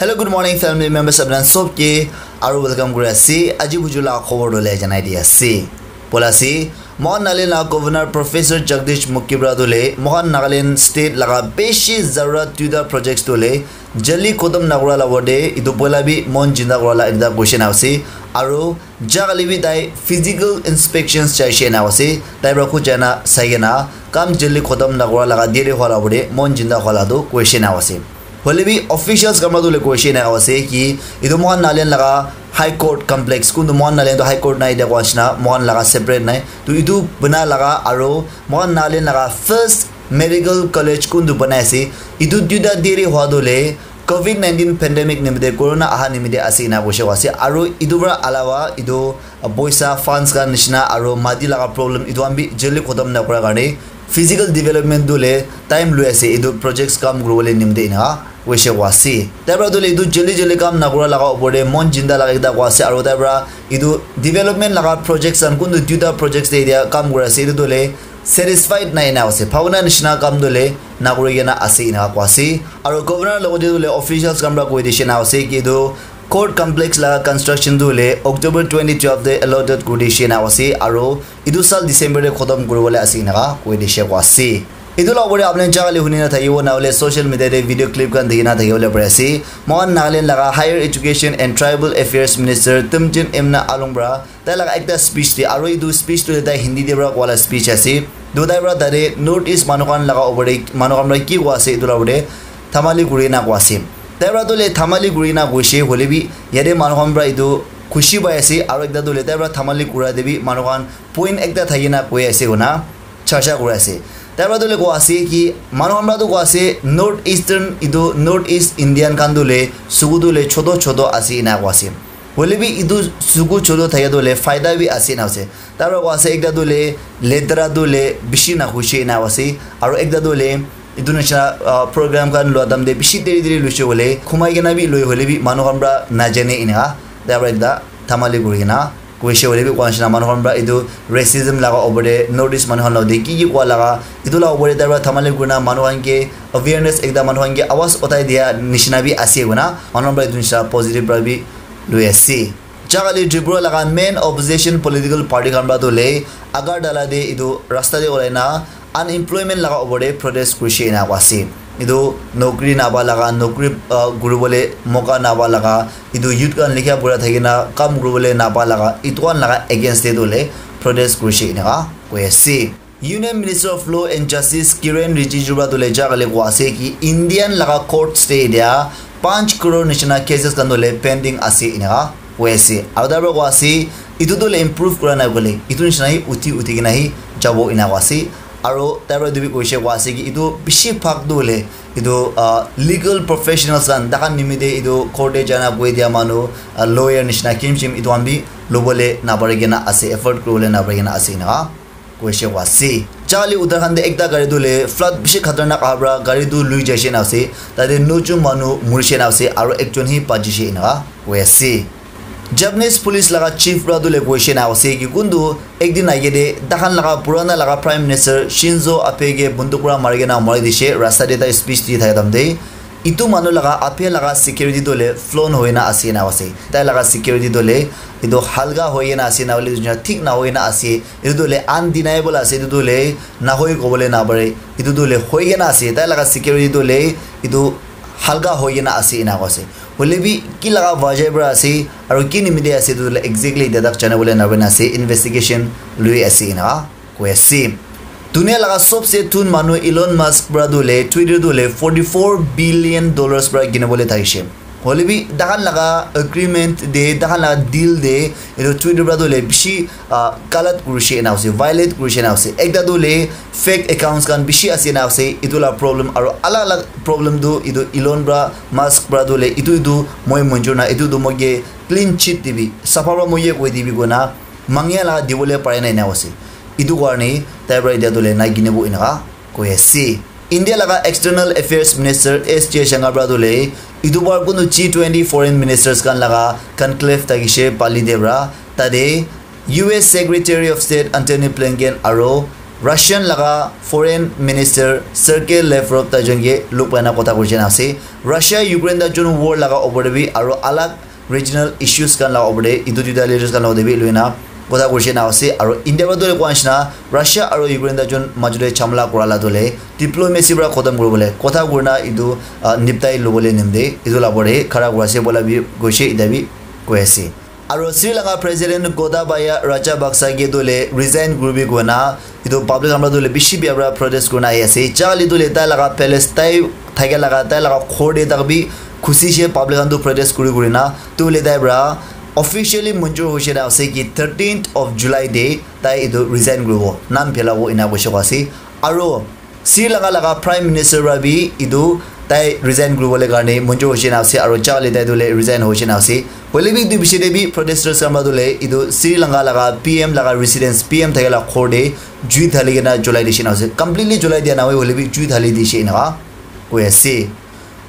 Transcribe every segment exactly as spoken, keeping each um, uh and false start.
Hello, good morning, family members. Apni khan sob ke aru welcome kuri ase. Aji buju la khobor dole janai di ase. Bola ase, Mohan Nagaland la Governor Professor Jagdish Mukhi para dole Mohan Nagaland state laga bishi zarurat duita projects dole jaldi khotom nakura la wade itu poila bi mon jinda kura la ekta question ase. Aru Jagale bi tai physical inspections chaishe na ase, tai pra khud jaina saikena kam jaldi khotom nakura laga dere hwala bole mon jinda hwala tu koishe na ase. Hoile bi officials kamra tu le koishe na ase ki itu Mohan Nagaland laga High Court complex, kuntu Mohan Nagaland tu High Court nai, dia koa nishina Mohan laga separate nai, tu itu bana laga aro Mohan Nagaland laga first medical college kuntu banai ase, itu duita dere hwa tu le covid nineteen pandemic nimite, corona aha nimite ase ena koishe koa ase. Aru itu para alawa itu boisa funds khan nishina aru mati laga problem itu khan bi jaldi khotom nakura karne physical development tu le time lui ase itu projects kam kuribole nimite ena koishe koa ase. Tai para tu le itu jaldi jaldi kam nakura laga upor te mon jinda laga ekta koa ase aru tai para itu development laga projects khan kuntu duita projects te etia kam kuri ase itu tu le satisfied nai ena ase, bhabona nishina kam tu le nakuri kena ase ena koa ase. Aru governor logote tu le officials khan para koi dishe na ase ki itu court complex laga construction tu le October twenty twelve te allotted kuri dishe na ase aru itu sal December te khotom kuribole ase ena koi dishe koa ase. Itu la upor te apni jagale huni na thakibo na hole social media te video clip khan dikhi na thakibole pari ase. Mohan Nagaland laga Higher Education and Tribal Affairs Minister Temjen Imna Along para tai laga ekta speech te, aru etu speech tu tai Hindi te para koa la speech ase. Tu tai para tate North East manu khan laga upor te manu khan para ki koa ase etu la upor te thamali kuri na koa ase. Tai para tu le thamali kuri na koishe hoile bi yate manu khan para etu khushi pai ase, aru ekta tu le tai para thamali kura te bi manu khan point ekta thaki na koi ase koina charcha kuri ase. Tai para tu le koa ase ki manu khan para tu koa ase North Eastern etu North East Indian khan tu le suku tu le choto choto ase ena koa ase. Hoile bi etu suku choto thaka tu le faida bi ase na ase. Tai para koa ase ekta tu le letera tu le bishi na khushi ena ase. Aru ekta tu le etu nishina, ah, program khan lua time te bishi deri deri luishe hoile khumai kena bi lui hoile bi manu khan para najane ena. Tai para ekta thamali kuri kena koishe hoile bi koa nishina manu khan para etu racism laga upor te North East manu khan logote ki ki koa laga etu la upor te tai para thamali kurina manu khan ke awareness ekta manu khan ke awaz uthai dia nishina bi ase koina manu khan para etu nishina positive para bi lui ase. Jagale Tripura laga main opposition political party khan para tu le Agartala te etu rasta te ulai na unemployment laga upor te protest kurishe ena koa ase. Etu nokri napa laga, nokri, ah, kuribole moka napa laga, etu youth khan likha pura thaki na kam kuribole napa laga, etu khan laga against te tu le protest kurishe ena koi ase. Union Minister of Law and Justice Kiren Rijiju para tu le jagale koa ase ki Indian laga courts te dia panch crore nishina cases khan tu le pending ase ena koi ase. Aru tai para koa ase etu tu le improve kura na koile etu nishina hi uthi uthi kena hi jabo ena koa ase. Aru tai para etu bi koishe koa ase ki etu bishi bhag tu le etu, ah, legal professionals khan tai khan nimite etu court te jana koi dia manu, ah, lawyer nishina kim chim etu khan bi lobole napari kena ase, afford kuribole napari kena ase ena koishe koa ase. Jagale Uttarakhand te ekta gari tu le flood bishi khatarnak aha para gari tu lui jaishe na ase. Tate nojon manu murishe na ase aru ekjon hi bachishe ena koi ase. Japanese police laga chief para tu le koishe na ase ki kuntu ek din age te tai khan laga purana laga Prime Minister Shinzo Abe ke bunduk para mari kena mari dishe rasta te tai speech di thaka time te. Etu manu laga Abe laga security tu le flown hoi na ase na ase. Tai laga security tu le etu halka hoi kena ase na hoile thik na hoi na ase. Etu tu le undeniable ase, etu tu le nahoi kobole napare. Etu tu le hoi kena ase, tai laga security tu le etu halka hoi kena ase ena koa ase. Hoile bi ki laga wajah para ase aru ki nimite ase etu tu le exactly etia tak jana bole napare na ase, investigation lui ase ena koi ase. Dunia laga sobse thun manu Elon Musk para tu le Twitter tu le forty four billion dollars para kina bole thakishe. Hoile bi tai khan laga agreement te, tai khan laga deal te etu Twitter para tu le bishi, ah, galat kurishe ena ase, violate kurishe ena ase. Ekta tu le fake accounts khan bishi ase ena ase, etu la problem aru alag alag problem tu etu Elon para Musk para tu le etu etu moi monjur na, etu tu moi ke clean chit dibi, sapha para moi ye koi dibi koina mangia la dibole pare na ena ase. Etu karne tai para etia tu le nai kinibo ena koi ase. India laga External Affairs Minister S Jaishankar para tu le etu bar kunu G twenty foreign ministers khan laga conclave thakishe Bali te para tate U S Secretary of State Antony Blinken aru Russian laga Foreign Minister Sergei Lavrov taijon ke log paina kotha kuri jana ase. Russia Ukraine taijon war laga opor te bi aro alag regional issues khan laga opor te etu duita leaders khan laga opor te bi loina kotha kuri jana ase. Aro India para tu koa nishina Russia aro Ukraine taijon majot te jhamla kura la tu le diplomacy para khotom kuribole kotha kurina etu, ah, niptai lobole nimite etu la opor te khara kuri ase bola bi koise, ita bi koi ase. Aro Sri Lanka President Gotabaya Rajapaksa ke tu le resign kuribi koina etu public khan para tu le bishi bia para protest kurina ahi ase. Charlie tu le tai laga palace, tai thakia laga, tai laga ghor te tak bi khushi she public khan tu protest kuri kurina tu le tai para officially manjur hoise na ase ki thirteenth of July te tai etu resign kuribo, nam phelabo ena koise koa ase. Aro Sri Lanka laga Prime Minister para bi etu tai resign kuribole karne manjur hoise na ase, aro Charlie tai tu le resign hoise na ase. Hoile bi etu bishi te bi protesters khan para tu le etu Sri Lanka laga P M laga residence, P M thakia laga ghor te jui thali kena julai dishe na ase. Completely julai dia na hoi, hoile bi jui thali dishe enaka koi ase.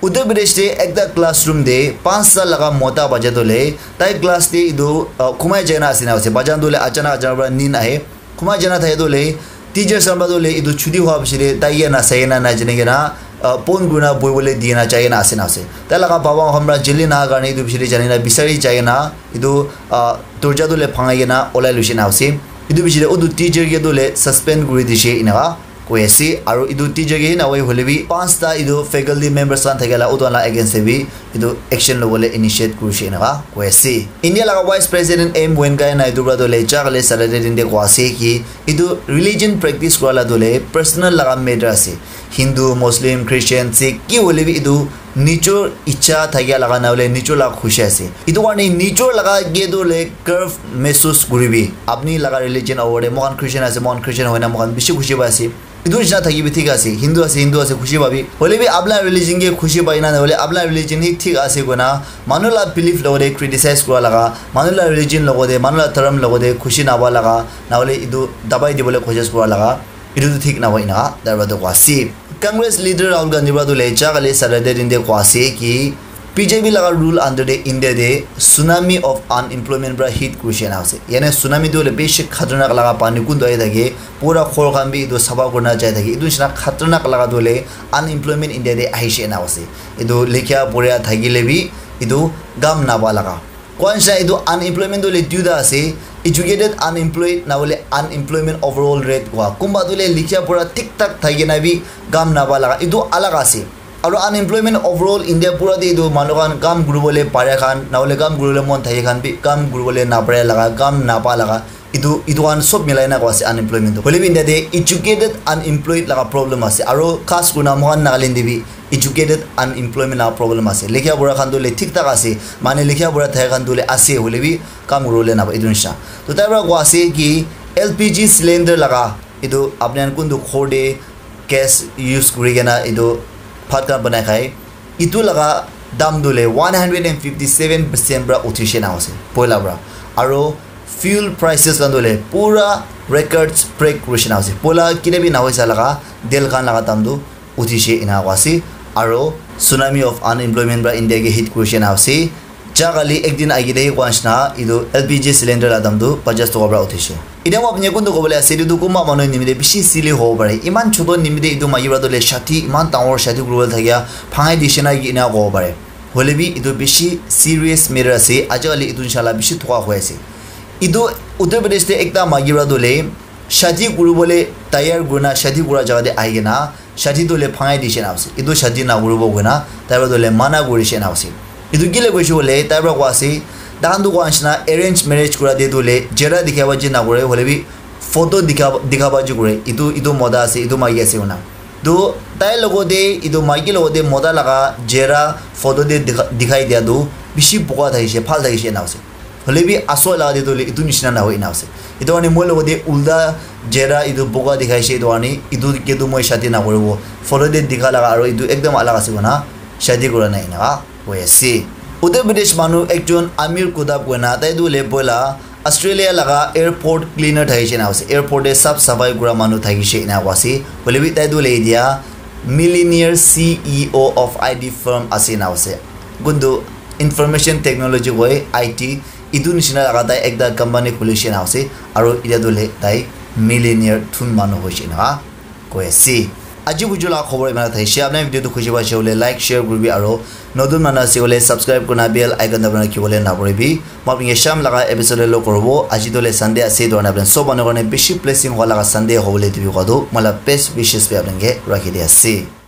Uttar Pradesh te ekta classroom te panch sal laga mota bacha tu le tai class te etu, uh, khumai jai na ase na ase. Bacha tu le achanak achanak para nin ahe. Khumai jana thai tu le teacher khan para tu le etu chuti hua piche te tai ke na sai na na jene ke na, ah, pon kurina boibole di na jai na ase na ase. Tai laga baba khan para jeli na karne etu piche te jani na bisari jai na etu, ah, dorja tu le bhangai ke na olai lushi na ase. Etu piche te utu teacher ke tu le suspend kuri dishe enaka koi ase. Aro etu teacher ke na hoi hoile bi panch ta etu faculty members khan thakia la utu la against te bi etu action lobole initiate kurishe enaka koi ase. India laga Vice President M Venkaiah Naidu para tu le ja kali Saturday din te koi ase ki etu religion practice kura la tu le personal laga matter ase. Hindu, Muslim, Christian, Sikh ki hoile bi etu nijor icha thakia laga na hole nijor laga khushi ase. Etu karne nijor laga ke tu le curve mehsus kuribi. Apni laga religion over de moikhan Christian ase, moikhan Christian hoina moikhan bishi khushi pai ase. Etu nishina thakibi thik ase, Hindu ase, Hindu ase, khushi pabi. Hoile bi apna religion ke khushi pai na, hoile apna religion hi thik ase koina, manu la belief logode criticize kura laga, manu la religion logode, manu la dharam logode khushi napa laga, na hole etu dabai dibole koshish kura laga, etu tu thik nahoi na, tai para tu koa ase. Congress leader Rahul Gandhi para tu le ja kali Saturday din te koa ase ki, B J P laga rule under te India te tsunami of unemployment para hit kurishe na ase. Yane tsunami tu hoile bishi khatarnak laga pani kuntu ahi thake, pura ghor khan bi etu sapha kurina jai thake. Etu nishina khatarnak laga tu hoile unemployment India te ahishe na ase. Etu likha pura thakile bi etu kam napa laga. Kwan sha etu unemployment tu hoile duita ase, educated unemployed na hoile unemployment overall rate kua. Kunba tu hoile likha pura thik thak thaki na bi kam napa laga. Etu alag ase. Aro unemployment overall India pura te etu manu khan kam kuribole pare khan, na hole kam kuribole mon thake khan bi kam kuribole napare laga, kam napa laga. Etu, etu khan sob milai na koa ase unemployment tu. Hoile bi India te educated unemployed laga problem ase. Aro khas kurina moikhan Nagaland te bi educated unemployment laga problem ase. Likha pura khan tu hoile thik thak ase. Mane likha pura thaka khan tu hoile ase, hoile bi kam kuribole napa etu nishina. To tai para koa ase ki L P G cylinder laga etu apni khan kuntu ghor te gas use kuri kena etu bhat khan banai khai. Etu laga dam tu hoile one hundred and fifty seven percent para uthi she na ase, poila para. Aro fuel prices khan tu hoile pura records break kuri she na ase. Poila kile bi na hoi sa laga tel khan laga dam tu uthi she ena koa ase. Aro tsunami of unemployment para India ke hit kuri she na ase. Ja kali ek din age te koa nishina etu L P G cylinder la dam tu pajas toka para uthi she. Etiya moi apni kuntu kobole ase, etu tu kunba manu nimite bishi silly hobo pare. Iman choto nimite etu maiki para tu hoile shadi, iman dangor shadi kuribole thakia bhangai dishe na ki ena kobo pare. Hoile bi etu bishi serious matter ase. Ajikali etu nisha la bishi thoka hoi ase. Etu Uttar Pradesh te ekta maiki para tu hoile shadi kuribole tayar kurina shadi kura jaga te ahi kena shadi tu hoile bhangai dishe na ase. Etu shadi nakuribo koina tai para tu hoile mana kurishe na ase. Etu kile koishe koile tai para koa ase, taikhan tu koa nishina arrange marriage kura te tu hoile chehra dikha baji nakure, hoile bi photo dikha, dikha baji kure. Etu, etu mota ase, etu maiki ase koina. Tu tai logode, etu maiki logode mota laga chehra photo te dikha, dikhai dia tu bishi boga thakishe, bhal thakishe ena ase. Hoile bi asol laga te tu hoile etu nishina nahoi ena ase. Etu karne moi logode ulta chehra etu boga dikhaishe, etu karne etu ke tu moi shadi nakuribo. Photo te dikha laga aro etu ekdam alag ase koina shadi kura nai enaka koi ase. Uttar Pradesh manu ekjon Amir Kuttab koina tai tu hoile poila Australia laga airport cleaner thakishe na ase. Airport te sap safai kura manu thakishe ena koi ase. Hoile bi tai tu hoile etia millionaire C E O of I T firm ase na ase. Kuntu information technology koi I T etu nishina laga tai ekta company khulishe na ase. Aro etia tu hoile tai millionaire thun manu hoishe na koi ase. Aji buju la khobor imana thaishe. Apni video tu khushi paishe hoile like, share kuribi aro notun manu ase hoile subscribe kurna bell icon dabana ki hoile na poribi. Moi apni ke sham laga episode lo korobo. Aji to le Sunday ase, to apni sob manu karne bishi blessing howa laga Sunday hobole dibi kowa tu moi la best wishes bi apni ke rakhi di ase.